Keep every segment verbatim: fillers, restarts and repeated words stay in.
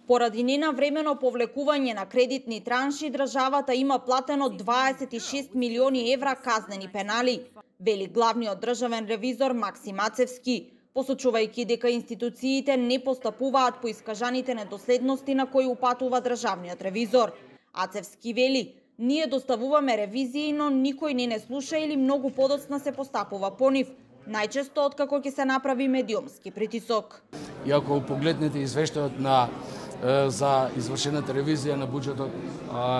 Поради ненавремено повлекување на кредитни транши, државата има платено дваесет и шест милиони евра казнени пенали, вели главниот државен ревизор Максим Ацевски, посочувајќи дека институциите не постапуваат по искажаните недоследности на кои упатува државниот ревизор. Ацевски вели: ние доставуваме ревизии, но никој не не слуша или многу подоцна се постапува по нив, најчесто откако ќе се направи медиумски притисок. И ако погледнете извештајот на за извршената ревизија на буџетот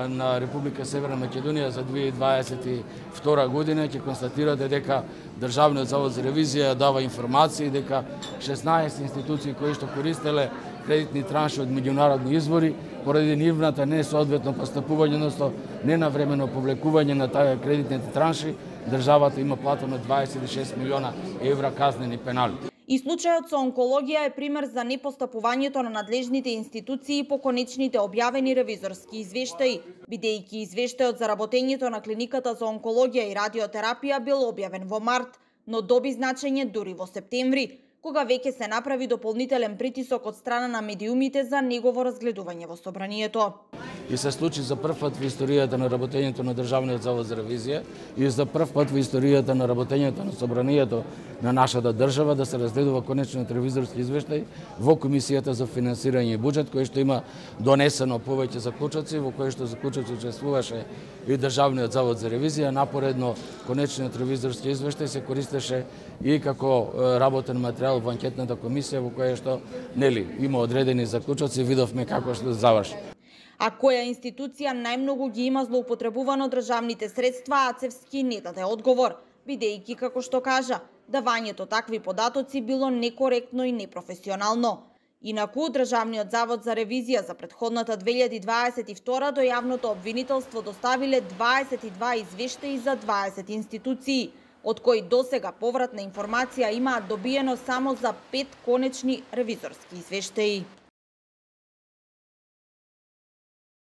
на Република Северна Македонија за две илјади дваесет и втора година, ќе констатирате дека Државниот завод за ревизија дава информации дека шеснаесет институции кои што користеле кредитни транши од меѓународни извори, поради нивната несоодветно постапување, односно ненавремено повлекување на тие кредитните транши, државата има платено дваесет и шест милиона евра казнени пенали. И случајот со онкологија е пример за непостапувањето на надлежните институции по конечните објавени ревизорски извештаи, бидејќи извештајот за работењето на клиниката за онкологија и радиотерапија бил објавен во март, но доби значење дури во септември, кога веќе се направи дополнителен притисок од страна на медиумите за негово разгледување во собранието. И се случи за прв пат во историјата на работењето на Државниот завод за ревизија и за прв пат во историјата на работењето на собранието на нашата држава да се разгледува конечниот ревизорски извештај во Комисијата за финансирање и буџет, кој што има донесено повеќе заклучоци, во кој што заклучоци учествуваше и Државниот завод за ревизија. Напоредно конечниот ревизорски извештај се користеше и како работен материјал во анкетната комисија, во која што нели има одредени заклучоци, видовме како што заврши. А која институција најмногу ги има злоупотребувано државните средства, Ацевски не даде одговор, бидејќи, како што кажа, давањето такви податоци било некоректно и непрофесионално. Инаку, Државниот завод за ревизија за претходната две илјади дваесет и втора до јавното обвинителство доставиле дваесет и два извештаи за дваесет институции, од кои досега повратна информација имаат добиено само за пет конечни ревизорски извештаи.